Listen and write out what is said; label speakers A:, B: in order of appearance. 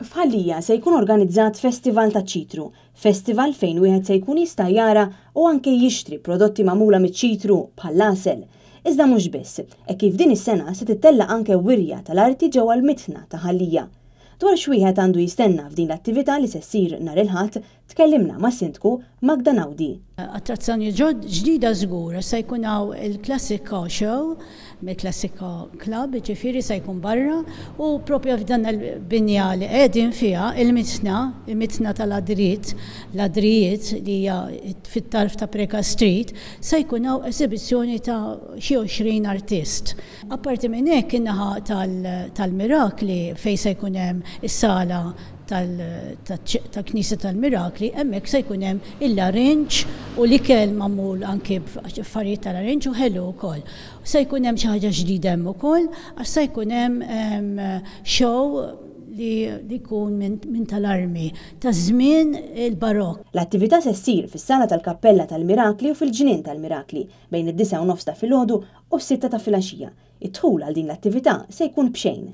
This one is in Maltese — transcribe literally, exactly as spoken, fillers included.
A: F'Ħal Lija se jkun organizzat Festival taċ-Ċitru, festival fejn wieħed se jkun jista' jara u anke jixtri prodotti magħmula miċ-ċitru bħall-għasel. Iżda mhux biss, hekk kif din is-sena se tittella' anke wirja tal-arti ġewwa l-Mitħna ta' Ħal Lija. Dwar x'wieħed għandu jistenna f'din l-attività li se ssir nhar il-Ħadd, tkellimna mas-Sindku Magda Naudi.
B: Attrazzjoni ġdida żgur, se jkun hawn il-Classic Car Show mill-Classic Car Club, ġifieri se jkun barra u propju f'dan il-binja li qegħdin fiha il-mitħna, il-mitħna tal-Adriet, l-Adrijiet li hija fit-tarf ta' Preca Street, se jkun hawn esibizzjoni ta' xi għoxrin artist. Apparti minn hekk, in-naħa tal-Mirakli fejn se jkun hemm is-sala tal-Knisja tal-Mirakli, hemmhekk se jkun hemm il-larinġ u l-ikel magħmul anke b'affarijiet tal-larinġ u ħelu wkoll. Se jkun hemm xi ħaġa ġdida hemm ukoll, għax se jkun hemm show li jkun minn tal-armi ta' żmien il-Barokk.
A: L-attività se ssir fis-sala tal-Kappella tal-Mirakli u fil-Ġnien tal-Mirakli bejn id-disgħa u nofs ta' filgħodu u s-sitta ta' filgħaxija. Id-dħul għal din l-attività se jkun b'xejn.